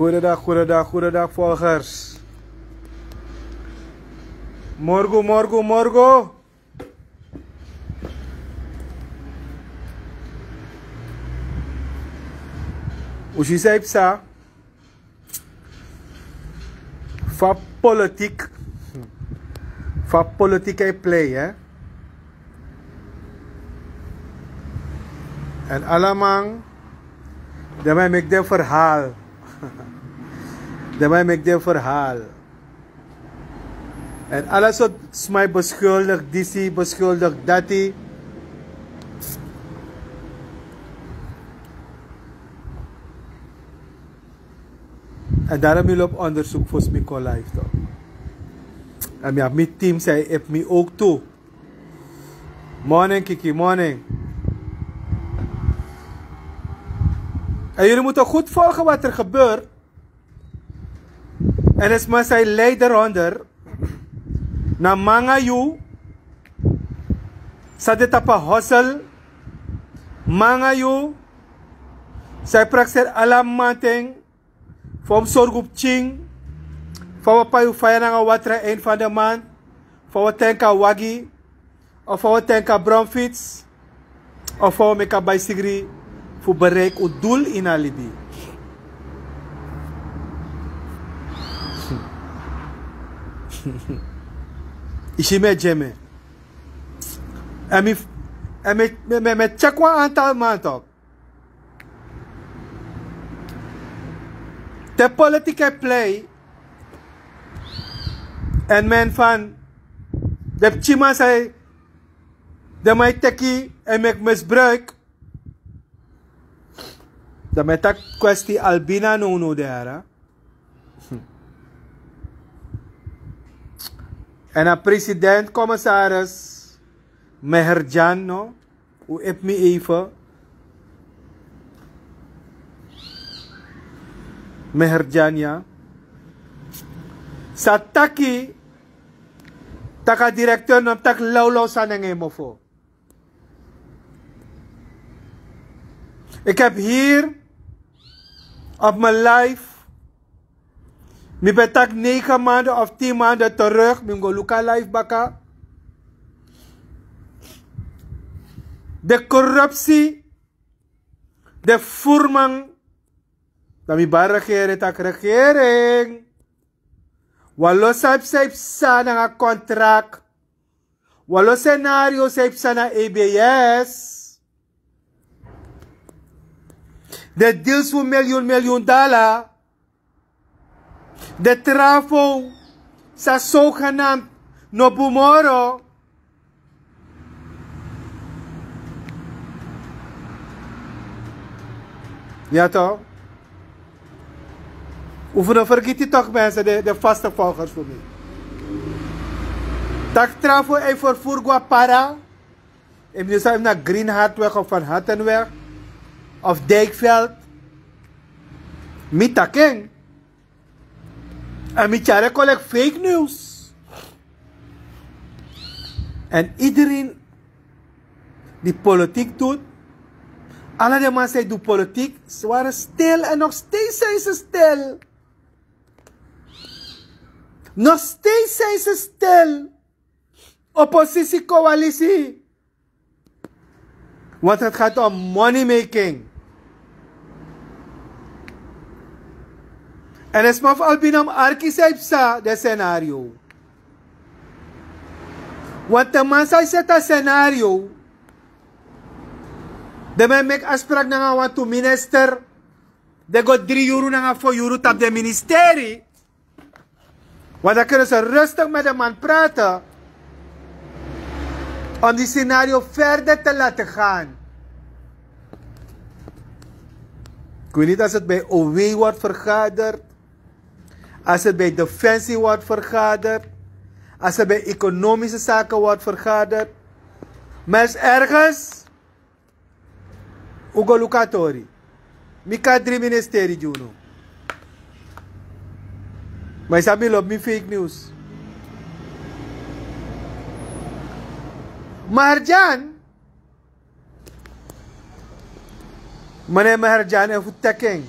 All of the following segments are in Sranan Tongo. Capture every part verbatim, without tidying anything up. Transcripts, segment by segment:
Goedendag, goedendag, goedendag, volgers. Morgen, morgen, morgen. Usi saipsa. Fa politik. Fa politik hij play, hè? En allemaal, dan mij maak de verhaal. Dan mij maak de verhaal. En alles wat mij beschuldigt, disi beschuldigt, dati. En daarom mi loop onderzoek voor Smiko Live toch. En mi heb mijn team zei, heb mij ook toe. Morning, Kiki, morning. En jullie moeten goed volgen wat er gebeurt. En is maar zijn leider onder. Na manga yu. Sa de tapa hosel. Manga yu. Zij praxer alamanting. Fa un sorgu pikin. Fa un pai un faya nanga watra eind van de maand. Fa un tenka wagi. Of fa un tenka bromfiets. Of fa un meki a bai sigri fu bereik un doel ini a libi. Yu si mi e gi en mi. En mi, en mi, mi, mi, mi check wan aantal man toch. Te politiek e play. En men van de pikinman sai, de man e teki en meki misbruik. Dan mi e taki kwesti Albina no no de yara. En a president, commissaris Meherjan, no? U epi mi even. Meherjan, ya. Sa taki, taki a directeur no mus taki lawlaw sani nanga en mofo. Ik heb hier op mijn live, mi ben taki negen maanden of tien maanden terug, mi go luku a live baka. De corruptie, de voerman, dan mi bai regering, taki regering. Wan lo san yu psa, yu psa nanga contract. Wan lo scenario san yu psa na E B S. De deals fu miljoen, miljoen dala. De trafo san zogenaamd no bun moro. Ya toch? Un fu no fergiti toch, mensen, de, de vaste volgers fu mi. Taki trafo e vervoer go na Para. Efu mi no sabi na Greenhartweg of Van Hattenweg of Dijkveld. Mi taki en. En mi tyari en kon leki fake news. En iedereen die politiek doet, alle de man san e du politiek, ze waren stil en nog steeds zijn ze stil. Nog steeds zijn ze stil. Oppositie, coalitie. Want het gaat om money making. En a sma fu Albina mus arki san yu psa den scenario. Want te man san yu seti a scenario, den man e meki afspraak nanga wantu minister, den go dri yuru nanga fo yuru tapu den ministeri. Want dan kunnen ze rustig met de man praten. Om die scenario verder te laten gaan. Ik weet niet als het bij O W wordt vergaderd. Als het bij Defensie wordt vergaderd. Als het bij Economische Zaken wordt vergaderd. Maar er is ergens Un go luku a tori. Mi kon dri ministeri gi unu. Ma yu sabi mi lobi mi fake news. Maharjan. Mane Maharjan e fu teki en.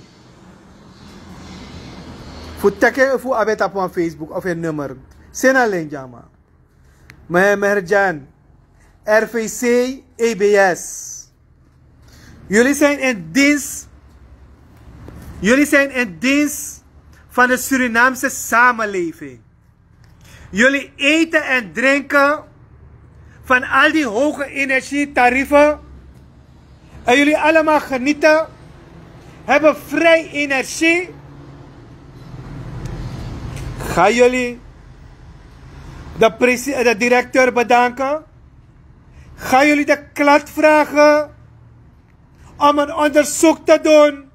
Fu teken fu abi tapu wan Facebook of en nummer. Sena len djama. Meneer Merjan, R V C, E B S. Jullie zijn in dienst. Jullie zijn in dienst van de Surinaamse samenleving. Jullie eten en drinken van al die hoge energietarieven. En jullie allemaal genieten, hebben vrij energie. Gaan jullie de, presi- de directeur bedanken? Gaan jullie de klant vragen om een onderzoek te doen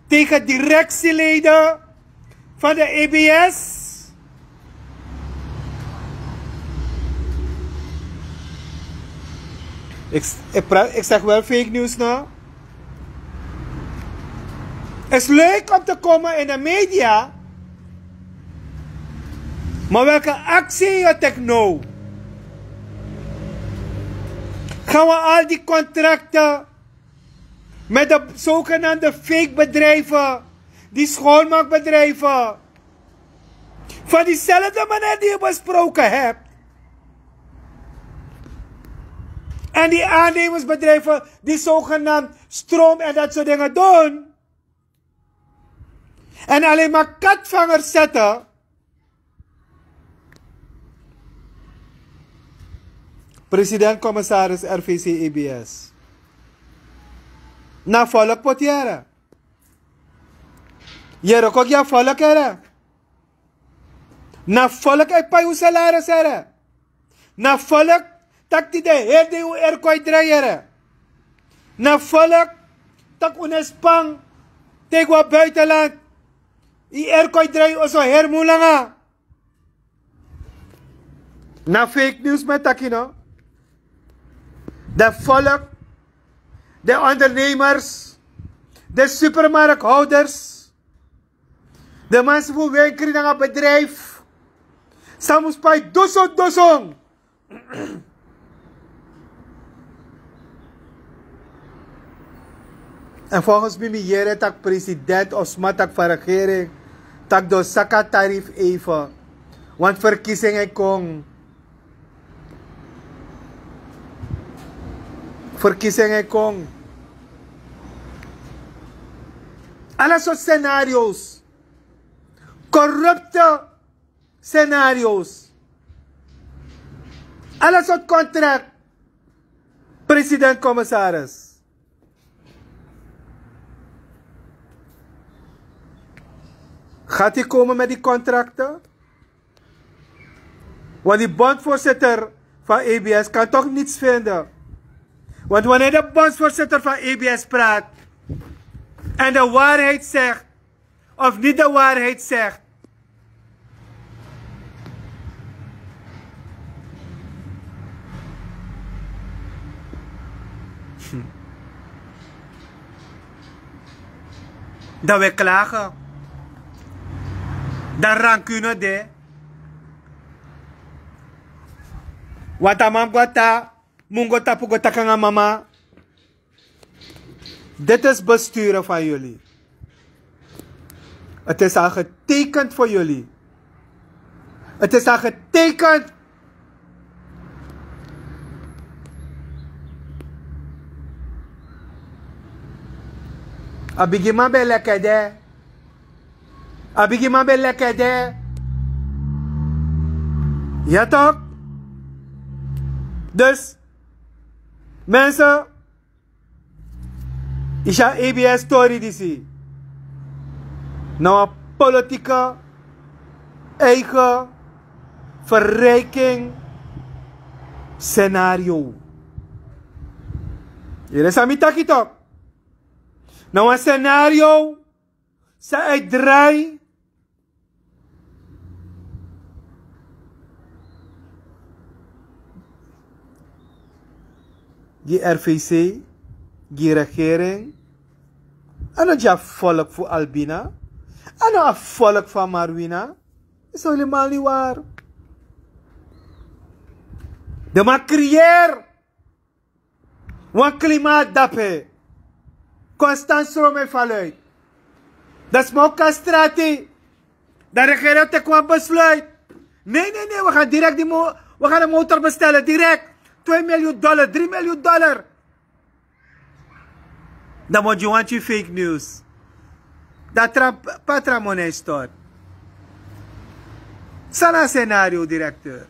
tegen directieleden van de E B S? Ik, ik, pra- ik zeg wel fake news, no? Het is leuk om te komen in de media, maar welke actie je techno? Gaan we al die contracten met de zogenaamde fake bedrijven, die schoonmaakbedrijven, van diezelfde meneer die je besproken hebt. En die aannemersbedrijven die zogenaamd stroom en dat soort dingen doen. En alleen maar katvangers zetten. President, commissaris, R V C, E B S. Na volk poti here. Yere, kon gi a volk here. Na volk e pai un salaris here. Na volk taki den heri dei un airco e drai here. Na volk taki un no e span te yu go na buitenland. Yu airco e drai, yu oso heri mun langa. Na fake news mi e taki, no? Den volk, den ondernemers, den supermarkthouders, den mensen fu wenkri nanga bedrijf, san mus pai dusun dusun. En volgens mi, mi yere taki president of sma taki van regering taki den o saka tarief even. Want verkiezingen kon. Verkiezingen kon. Alle soort scenario's. Corrupte scenario's. Alle soort contract. President, commissaris. Gaat hij komen met die contracten? Want die bondvoorzitter van E B S kan toch niets vinden. Want wanneer de bondvoorzitter van E B S praat en de waarheid zegt, of niet de waarheid zegt. Dan we klagen. Dan rancune de. Wata mam gwata, mungo tapu go takanga mama. Dit is besturen van jullie. Het is al getekend voor jullie. Het is al getekend. A bigi man ben leki de. A bigi man ben leki de. Ja toch? Dus, mensen, isi a E B S tori disi na wan politieke eigen verrijking scenario. Yere san mi taki toch? Na wan scenario san e drai. Gi R V C, gi regering. A no gi a volk fu Albina. A no a volk fu Marwina. Is helemaal niet waar. De man creëer wan klimaat dape. Constant stroom e valuit. Dan sma o kon na strati. Dan regering o teki wan besluit. Nee nee nee we gaan direkt die mo we gaan de motor bestellen direkt. Twee miljoen dollar drie miljoen dollar. Dan mo gi wan tyu fake news. Dan tra patra money stort. San na scenario directeur?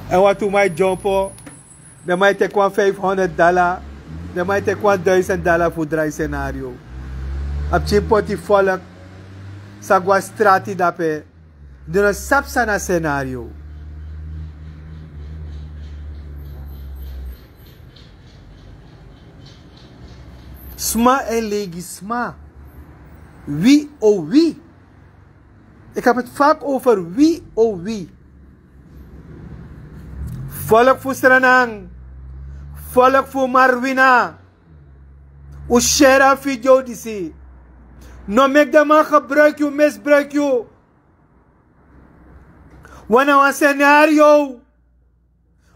En wat tu mai jompo. Den man e teki wan vijfhonderd dala. Den man e teki wan duisend dala fu drai scenario. A pikin poti folk. San go na strati dape. Den no sabi san na scenario. Sma e legi sma. Wi o wi. Ik heb het vaak over wi o wi. Volk fu Sranan. Volk fu Marwina. Un share a video disi. No meki den man gebruik yu, misbruik yu. Wan na wan scenario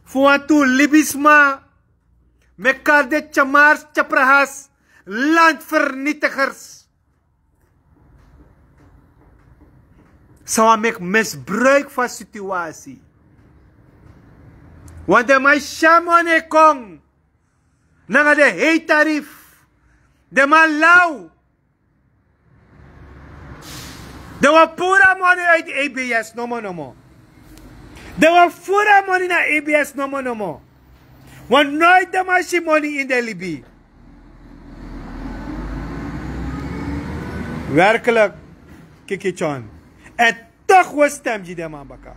fu wantu libisma. Meki kari de tyamars, tyaprahas, landvernietigers. San wani meki misbruik fu a situasi. Want den man e si a moni e kon nanga den hei tarif. Den man law. Den wani puru a moni uit ebs nomo nomo. Den wani furu a moni na ebs nomo nomo. Want noit den man si moni ini den libi. Werkelijk. Kiki tyon. En toch we stem gi den man baka.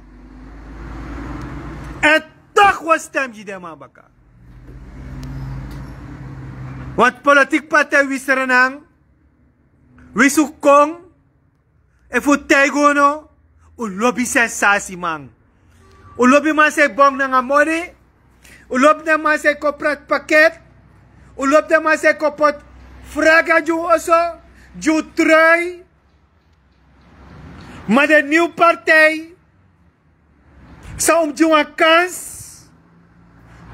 En toch we stem gi den man baka. Want politiek partij wi Sranan, wi su kon, efu un taigi unu, un lobi sensasiman. Un lobi man san e bong nanga moni. Un lobi den man san e kon prati paket. Un lobi den man san e kon poti fraga gi un oso, gi un trui. Ma den niw partij san un mus gi wan kans,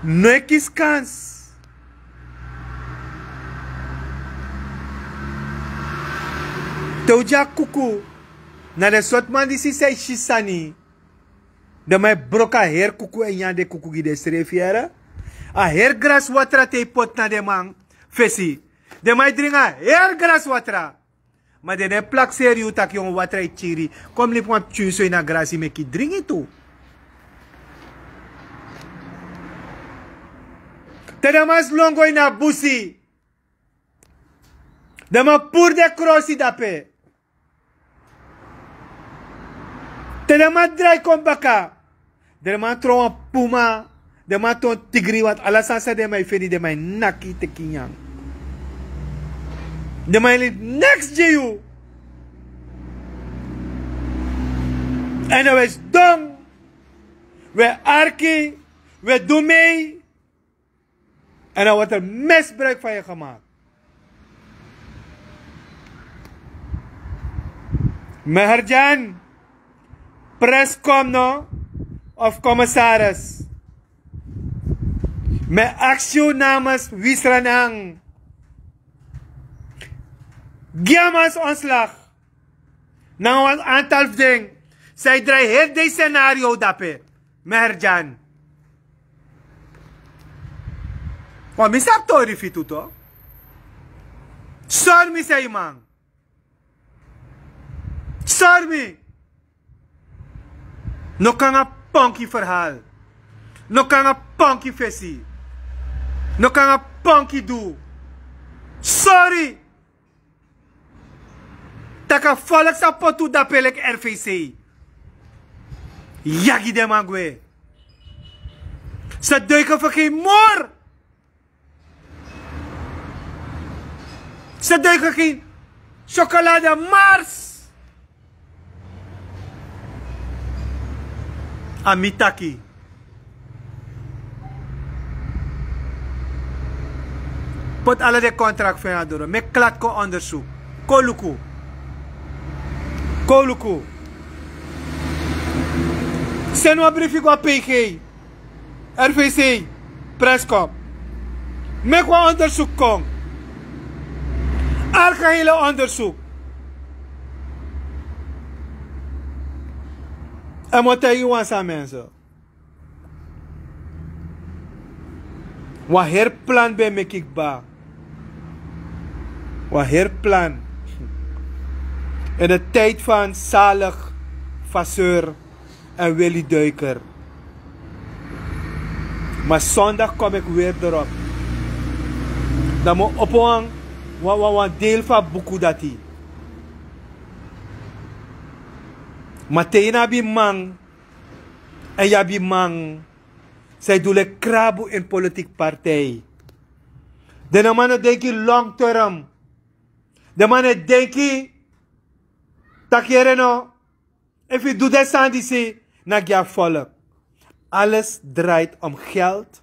no e kisi kans. Te un gi a kuku na den sortu man disi san e si sani. Den man e broko a heri kuku èn nyan den kuku gi densrefi yere. A heri graswatra te yu poti na den man fesi. Den man e dringi a heri graswatra. Ma den no e plakseri yu tak' yu wan watra e kiri. Kon mi libi wan pikin so ini a grasi meki yu dringi tu. Te den man sidon go ini a busi, den man puru den krosi dape. Te den man drai kon baka, den man tron wan puma. Den man tron tigri want ala sani san den man e feni den man e naki teki nyan. Den man e libi neks gi yu. Èn den we sidon, we arki, we du mei. En dan wordt er misbruik van je gemaakt. Meherjan, preskom no of commissaris. Mi aksi yu namens Wisranang. Gi a man ontslag. Nanga wan aantal fu den san e drai heri den scenario dape. Meherjan. Wan mi sabi tori fu yu tu. Sori mi san yu man. Sori mi. No kon nanga ponki verhaal. No kon nanga ponki fesi. No kon nanga ponki du. Sori. Tak' a volk sa poti un dape leki R V C. Yagi den man gwe. Ze duiken voor geen moor. Ze duiken geen chocolade mars. A mi taki. Poti ala den kontrak fu en na doro. Meki klati kon onderzoek. Kon luku. Kon luku. Seni wan brifi go na P G. R V C, preskom. Meki wan onderzoek kon. Algehele onderzoek. En mi o taigi wan sani, mensen. Wan heri plan ben meki kba. Wan heri plan. In de tijd van Zalig Vasseur en Willy Duiker. Maar zondag kom ik weer erop. Dan mi o opo wan, wan, wan, wan deel van buku dati. Ma te yu no abi man, en yu abi man, san e du leki krabu ini politiki partij. Den no man no denki long term. Den man no e denki taki yere no, efu yu du den sani disi, na gi a volk. Alles draait om geld.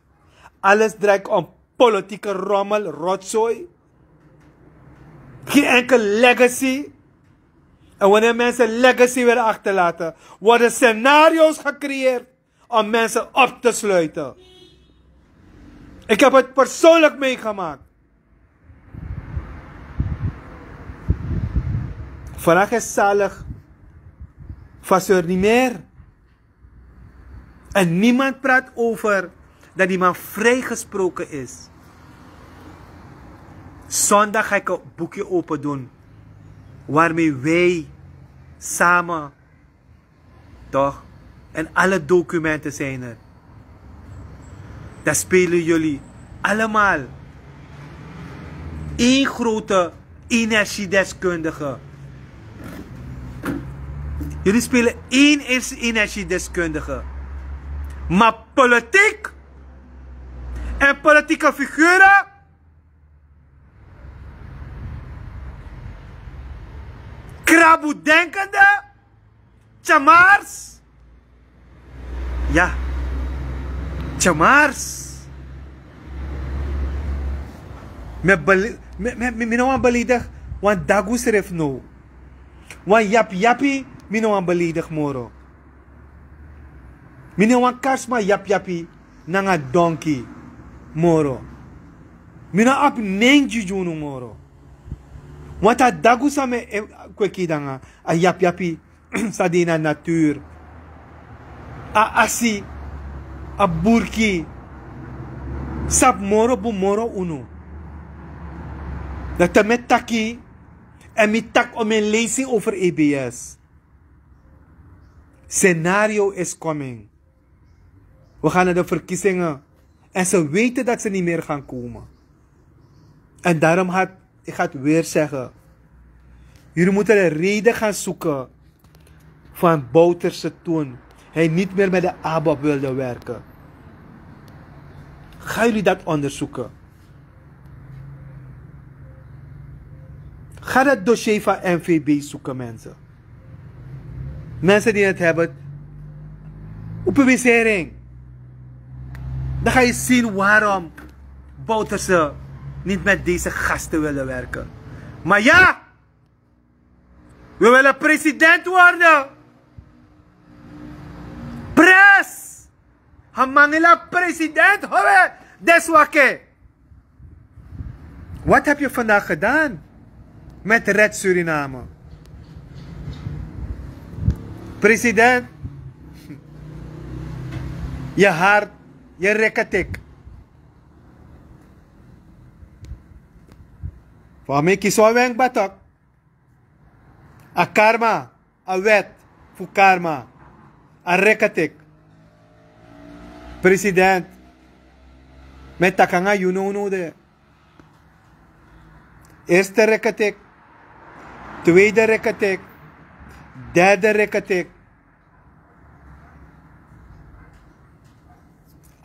Alles draait om politieke rommel, rotzooi. Geen enkel legacy. En wanneer mensen legacy willen achterlaten, worden scenario's gecreëerd om mensen op te sluiten. Ik heb het persoonlijk meegemaakt. Vandaag is Zalig Vasseur niet meer. En niemand praat over dat die man vrijgesproken is. Zondag ga ik een boekje open doen, waarmee wij samen, toch? En alle documenten zijn er. Dan spelen jullie allemaal één grote energiedeskundige. Jullie spelen één ers-, energiedeskundige. Maar politiek en politieke figuren, krabudenkende, Tjamars. Ya. Tjamars. Mi e beli-, mi, mi, mi, mi no wani beledig wan dagu srefi now. Wan yapiyapi, mi no wani beledig moro. Mi no wani kari sma yapiyapi nanga donki moro. Mi no abi nen gi unu moro. Want a dagu san mi e kweki nanga, a yapiyapi san de ini a natuur. A asi, a burki, sabi moro bun moro unu. Dan te mi e taki, en mi taki, o, mi e leisi over E B S. Scenario is coming. We gaan naar de verkiezingen. En ze weten dat ze niet meer gaan komen. En daarom had, ik ga het weer zeggen. Jullie moeten de reden gaan zoeken van Bouterse toen hij niet meer met de ABOP wilde werken. Gaan jullie dat onderzoeken? Ga dat dossier van N V B zoeken, mensen. Mensen die het hebben, een publicering. Dan ga je zien waarom Bouterse niet met deze gasten willen werken. Maar ja, we willen president worden. Pres! Hamangila president, howe, deswake. Wat heb je vandaag gedaan met Red Suriname? President, je hart, je rekketik. Voor mij kies wel wenk batok. A karma, a wet fu karma, a rekketik. President, mi e taki nanga yu now now de. Eerste rekketik, tweede rekketik, derde rekketik.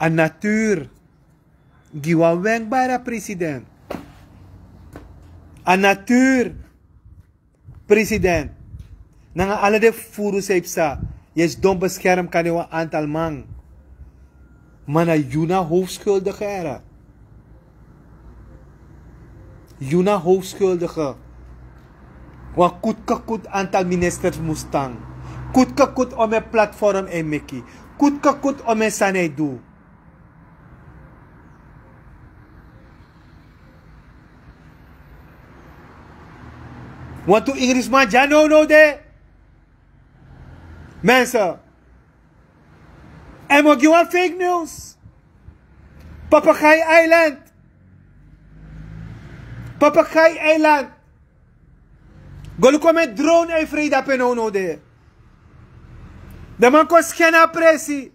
A natuur gi wan wenkbara president. A natuur, president, nanga ala den furu san yu psa, yu e sidon beskerm kande wan antal man. Ma na yu na hoofdskuldige, here. Yu na hoofdskuldige. Wan kutkekut antal ministers mus tan. Kutkekut omeni platform e meki. Kutkekut omeni sani e du. Wantu Ingrisman dya now now de. Mensen, En mi o gi wan fake news. Papagai Island. Papagai Island. Go luku mi drone en Freda pe no no de. De man kon sken a presi.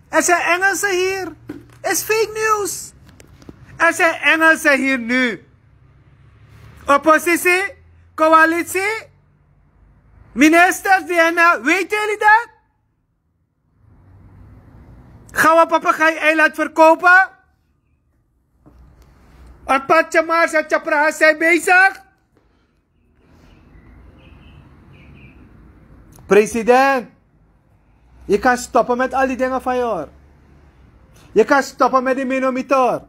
Er zijn Engelsen hier. Is fake news. Er zijn Engelsen hier nu. Oppositie, coalitie, ministers, D N A, weten jullie dat? Gaan we Papagai-eiland verkopen? En Patje Mars en Tjapraha zijn bezig. President, je kan stoppen met al die dingen van je hoor. Je kan stoppen met die minomitor.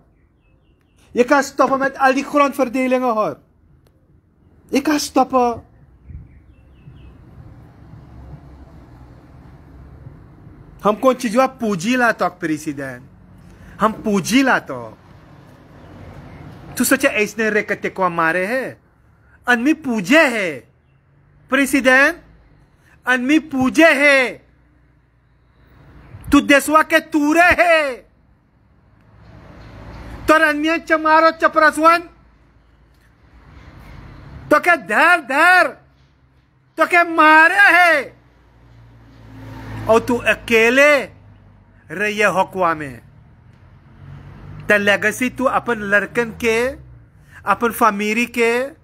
Je kan stoppen met al die grondverdelingen hoor. Je kan stoppen. Ham kon tijua pujila tok president. Ham pujila tok. Tu socha eisne reke tekwa mare he. An mi puje he. President, an mi puje he. Tu deswa ke ture he. Tora nien chamaro chapraswan. Toke dar dar. Toke mare he. Au tu akele. Reye hokwame. Ta legacy tu apan larkan ke. Apan famiri ke.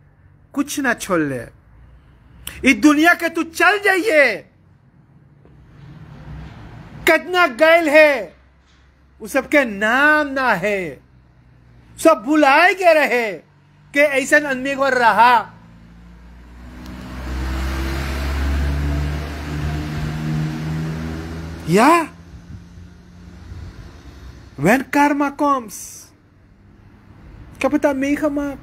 Kuch na chole. I dunia ke tu chal jaiye. Katna gail he. Usab ke naam na hai. Sab bhulai gaya hai ke aisa anmi ko raha. Ya. When karma comes. Ik heb het al meegemaakt.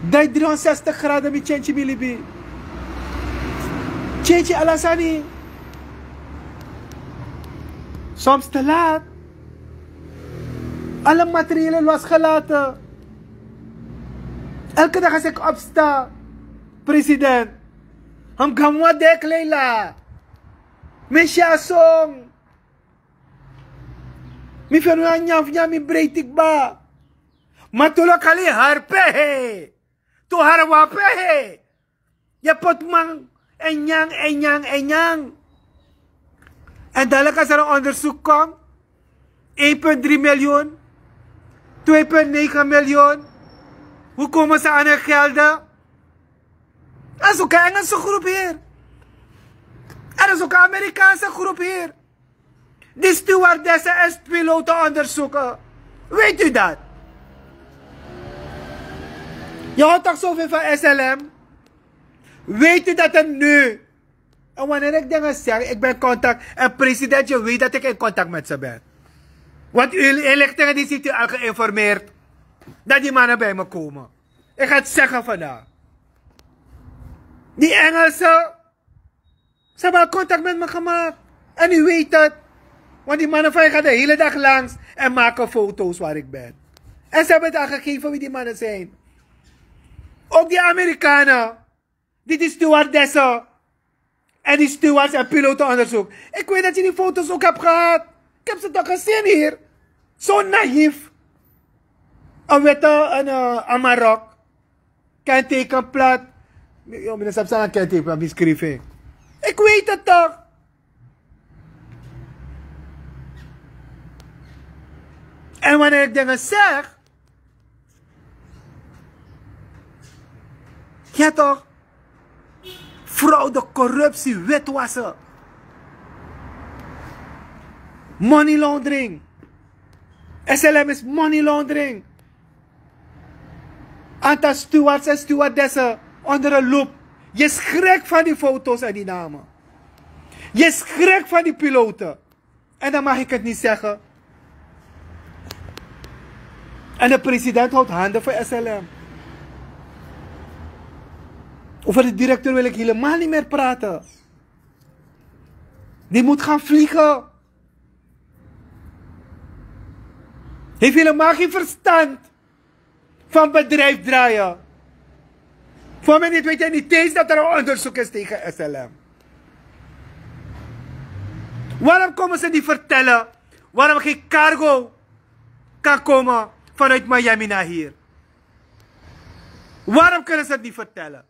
Dai driehonderdzestig graden mi change mi libi. Change ala sani. Soms te laat. Alle materiële losgelaten. Elke dag als ik opsta, president. Ham gamwa dek leila. Mesha song. Mi fenu a nyan fu nyan mi breiti kba. Ma tu lokali harpe he. Tu harwape he. Ye poti man en nyan, en nyan, en nyan. En dalik a sani onderzoek kon. Een punt drie miljoen. Twee punt negen miljoen. Hoe komen ze aan hun gelden? Er is ook een Engelse groep hier. Er is ook een Amerikaanse groep hier. Die stewardessen en piloten onderzoeken. Weet u dat? Je hoort toch zoveel van S L M? Weet u dat er nu... En wanneer ik dingen zeg, ik ben in contact. En president, je weet dat ik in contact met ze ben. Want uw inlichtingen die ziet u al geïnformeerd. Dat die mannen bij me komen. Ik ga het zeggen vandaag. Die Engelsen, ze hebben al contact met me gemaakt. En u weet het. Want die mannen van je gaan de hele dag langs en maken foto's waar ik ben. En ze hebben het al gegeven wie die mannen zijn. Ook die Amerikanen, die die stewardessen en die stewards en piloten onderzoek. Ik weet dat je die foto's ook hebt gehad. Ik heb ze toch gezien hier. Zo naïef. Een witte, een uh, amarok. Kenteken plat. Yo, meneer Sapsang, kenteken plat, beschrijving. Ik weet het toch. En wanneer ik dingen zeg, ja toch, fraude, corruptie, witwassen, money laundering. S L M is money laundering. Aantal stewards en stewardessen onder de loep. Je schrikt van die foto's en die namen. Je schrikt van die piloten. En dan mag ik het niet zeggen. En de president houdt handen voor S L M. Over de directeur wil ik helemaal niet meer praten. Die moet gaan vliegen. Heeft helemaal geen verstand van bedrijf draaien. Voor mij niet weet hij niet eens dat er een onderzoek is tegen S L M. Waarom komen ze niet vertellen waarom geen cargo kan komen vanuit Miami naar hier? Waarom kunnen ze het niet vertellen?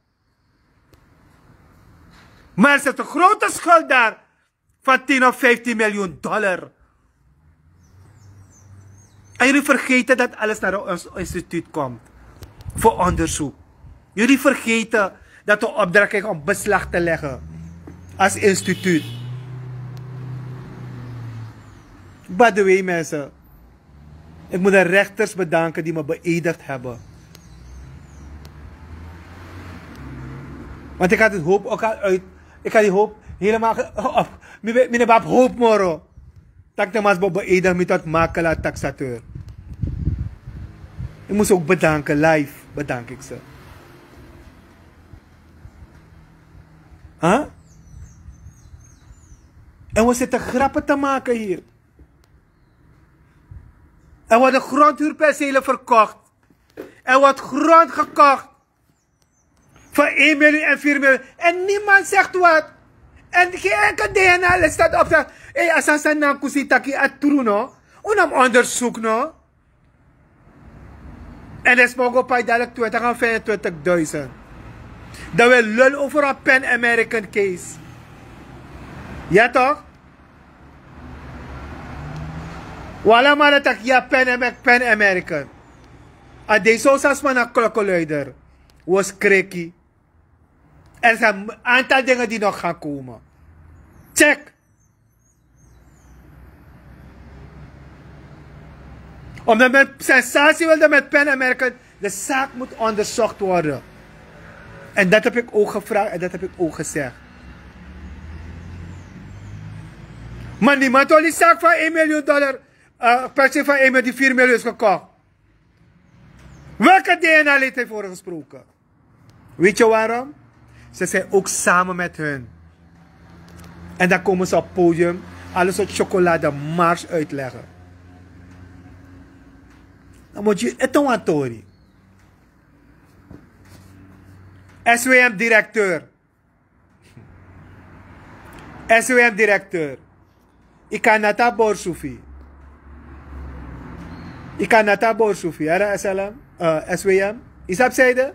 Maar er zit een grote schuld daar van tien of vijftien miljoen dollar. En jullie vergeten dat alles naar ons instituut komt voor onderzoek. Jullie vergeten dat we opdracht krijgen om beslag te leggen als instituut. By the way, mensen, ik moet de rechters bedanken die me beëdigd hebben. Want ik had het hoop ook al uit. Ik had die hoop helemaal ge- op. Mijn bab hoop moro. Tak de mas bo beëdigd met dat makelaar taxateur. Ik moest ook bedanken, live bedank ik ze. Huh? En we zitten grappen te maken hier. Er worden grondhuurpercelen verkocht. Er wordt grond gekocht voor één miljoen en vier miljoen. En niemand zegt wat. En geen enkel D N A staat op. Hé, als ze na kusi taki a true, no? Unam onderzoek, no? En de smogo pai dadelijk twintig à vijfentwintigduizend. Dan we lul over een Pan American case. Ja toch? Wala mara tak ya Pan Amer- Pan American. A de so sa sma na klokkenluider. Was kreki. Er zijn een aantal dingen die nog gaan komen. Check. Omdat men sensatie wilde met Pan American, de zaak moet onderzocht worden. En dat heb ik ook gevraagd en dat heb ik ook gezegd. Maar niemand wil die zaak van één miljoen dollar, uh, per se van één miljoen, die vier miljoen is gekocht. Welke D N A-lid heeft voor gesproken? Weet je waarom? Ze zijn ook samen met hun. En dan komen ze op podium, alles soort chocolade mars uitleggen. Dan moet je eten wantori. S W M-directeur. S W M-directeur. Ika nata borsufi. Ika nata borsufi. Ara S L M, uh, S W M. Isap zeide.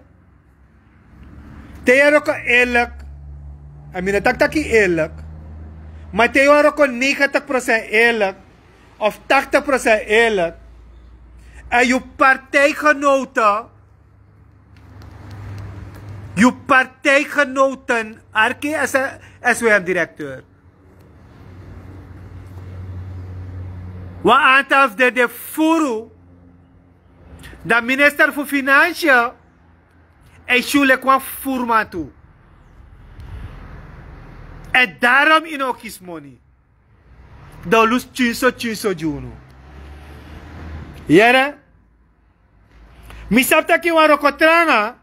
Te yu roko eerlijk. A mi no taki taki eerlijk. Maar te yu roko negentig procent eerlijk of tachtig procent eerlijk. En yu partijgenoten, yu partijgenoten, arki S W M-directeur. Wan aantal fu den de furu. Dan minister fu Financiën, en syu leki wan furman tu. En daarom yu no kisi moni. Dan lusu tyunso tyunso gi unu. Yere? Mi sabi taki wan roko tranga.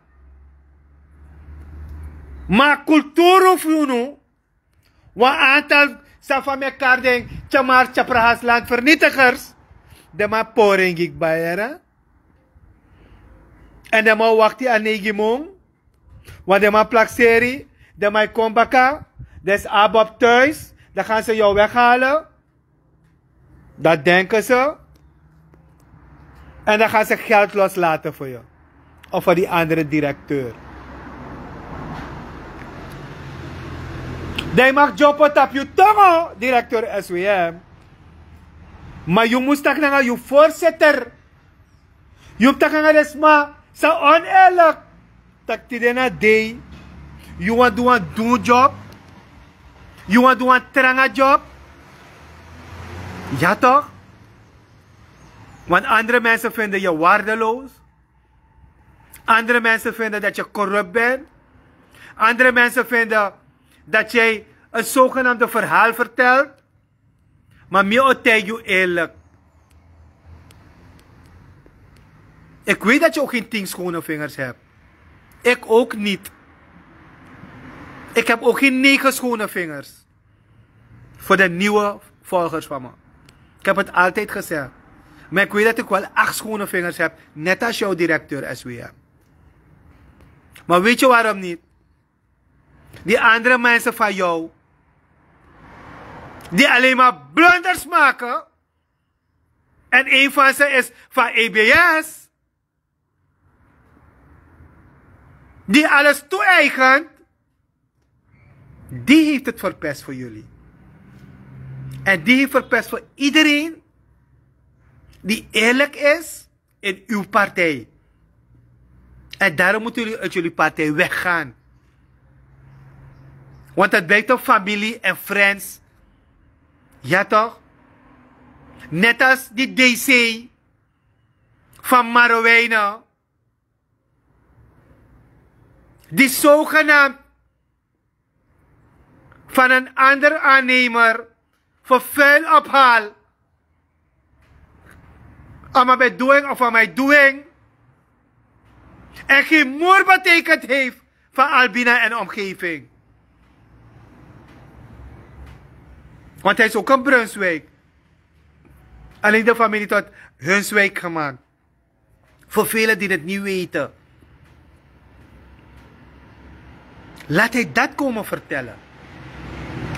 Ma kulturu fu unu. Wan aantal san fa mi e kari den tyamar tyaprahas landvernietigers. Den man pori en gi kba yere. En den man wakti a neigi mun. Wan den man plakseri. Den man e kon baka. Den si abi op thuis. Dan gaan ze jou weghalen. Dat denken ze. En dan gaan ze geld loslaten voor je. Of voor die andere directeur. Dan yu mag dyopo tapu yu tongo, directeur S W M. Maar yu mus taki nanga yu voorzitter. Yu mus taki nanga den sma san oneerlijk. Taki tide na dei. Yu wani du wan dun job. Yu wani du wan tranga job. Ja toch? Want andere mensen vinden je waardeloos. Andere mensen vinden dat je corrupt bent. Andere mensen vinden dat jij een zogenaamde verhaal vertelt. Maar mi o taigi yu eerlijk. Ik weet dat je ook geen tien schone vingers hebt. Ik ook niet. Ik heb ook geen negen schone vingers. Voor de nieuwe volgers van me. Ik heb het altijd gezegd. Maar ik weet dat ik wel acht schone vingers heb. Net als jouw directeur S W M. Maar weet je waarom niet? Die andere mensen van jou, die alleen maar blunders maken. En een van ze is van E B S. Die alles toe-eigent. Die heeft het verpest voor jullie. En die heeft verpest voor iedereen die eerlijk is in uw partij. En daarom moeten jullie uit jullie partij weggaan. Want het blijkt op familie en friends. Ja toch? Net als die D C van Marowijnen, die zogenaamd van een ander aannemer vervuil ophaal. Ama bedoeling of aan mijn doing. En geen moer betekend heeft van Albina en omgeving. Want hij is ook een Brunswijk. Alleen de familie tot Hunswijk gemaakt. Voor velen die het niet weten. Laat hij dat komen vertellen.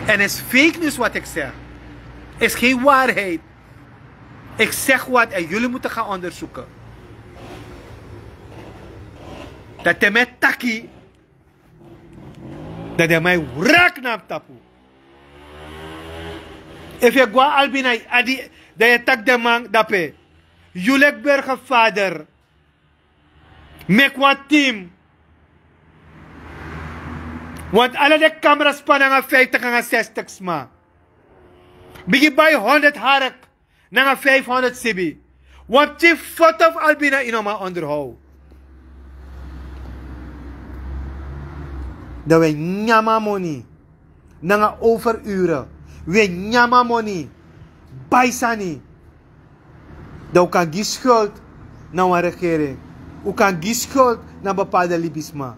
En is fake news wat ik zeg. Is geen waarheid. Ik zeg wat en jullie moeten gaan onderzoeken. Dat hij met taki. Dat hij mij wrak nam tapu. Efu yu e go na Albina yu adi, dan yu e taki den man dape. Yu leki burgervader, meki wan team. Want ala den kamera span nanga vijftig nanga zestig sma. Bigin bai honderd hark nanga vijfhonderd sibi. Wan pikin foto fu Albina yu no man onderhoud. Dan wi e nyan a moni. Nanga overuren. Wi e nyan a moni. Bai sani. Dan un kan gi schuld na wan regering. Un kan gi schuld na bepaalde libisma.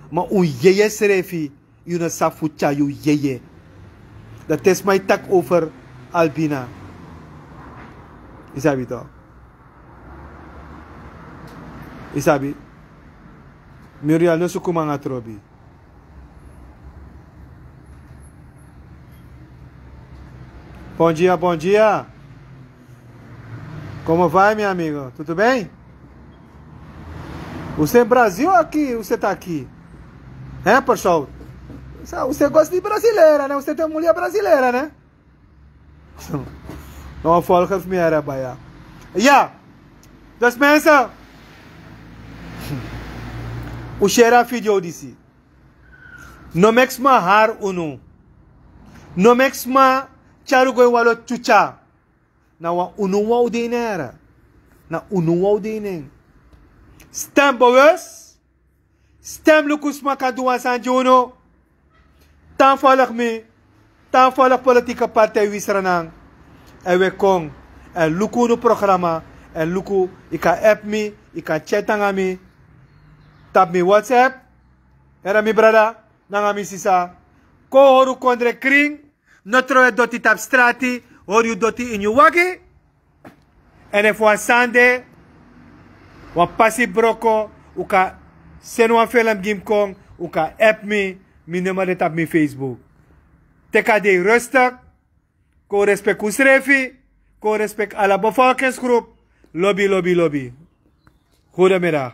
Ma un yeye srefi, yu no sabi fu tyari yu yeye. Dan te sma e taki over Albina. Yu sabi toch. Yu sabi. Muriel no suku mi nanga trobi. Bom dia, bom dia. Como vai, meu amigo? Tudo bem? Você é Brasil aqui, você tá aqui? Hein, pessoal? Você gosta de brasileira, né? Você tem mulher brasileira, né? No, folga fu mi era baya. Ya. Dus mensen, un share a video disi. No meki sma hari unu. No meki sma tyari un go ini wan lo tyutya. Na wan unu wawan un de ini en. Na unu wawan un de ini en. Stem bewus. Stem luku sma kan du wan sani gi unu. Tan folg mi. Tan folg politieke partij Wi Sranan. Èn wi e kon. Èn luku unu programa. Èn luku, yu kan app mi, yu kan chat nanga mi. Tapu mi WhatsApp. Heri mi brada nanga mi sisa. Kon hori un kondre krin. No trowe doti tapu strati, hori yu doti ini yu wagi. Èn efu wan sani de, wan pasi broko, un kan seni wan film gi mi kon, un kan app mi, mi nummer de tapu mi Facebook. Teki a dei rustig, kon respeki unsrefi, kon respeki ala bevolkingsgroep, lobi, lobi, lobi. Goedemiddag.